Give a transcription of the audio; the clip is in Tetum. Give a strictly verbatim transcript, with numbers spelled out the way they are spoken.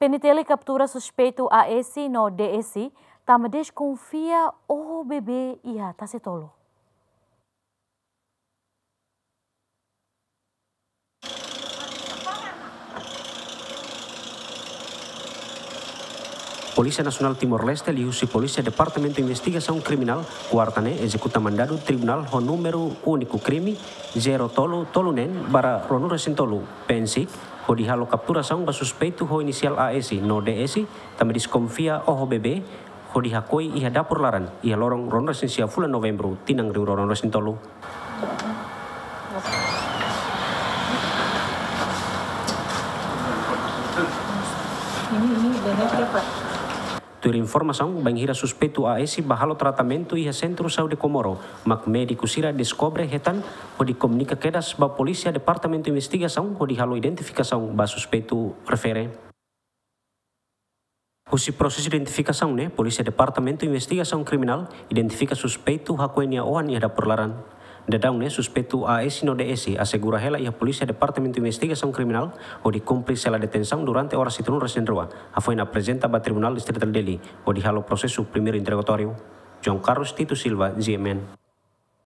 P N T L kaptura suspeitu A S no D S tanba deskonfia oho bebé iha tase-tolu. Polísia Nasionál Timor-Leste liuhusi Polísia Departamentu Investigasaun Kriminál, kuarta ne'e ezekuta mandadu tribunál ho númeru úniku krime zero tolu tolu neen barra ruanulu-resin-tolu, PNSIK, hodi halo kapturasaun ba suspeitu ho inisiál A S no D S, tanba deskonfia oho bebé, hodi hakoi iha dapur laran, iha loron ruanulu-resin-sia fulan Novembru, tinan rihun rua ruanulu-resin-tolu. Ini, ini banyak ya, Pak. Tuir informasaun, bainhira suspeitu A S bá halo tratamentu iha Sentru Saúde Comoro, mak médiku sira deskobre hetan, hodi komunika kedas ba Polísia Departamentu Investigasaun, hodi halo identifikasaun ba suspeitu refere. Husi prosesu identifikasaun ne'e, Polísia Departamentu Investigasaun Kriminál identifika suspeitu hakoi nia oan iha dapur laran. Daudaun ne'e, suspeitu A S no D S asegura hela iha Polísia Departamentu Investigasaun Kriminál, hodi kumpre sela detensaun durante oras hitunulu-resin-rua, hafoin aprezenta ba Tribunál Distritál Dili, hodi halo prosesu primeiru interogatóriu. João Carlos Tito Silva, G M N.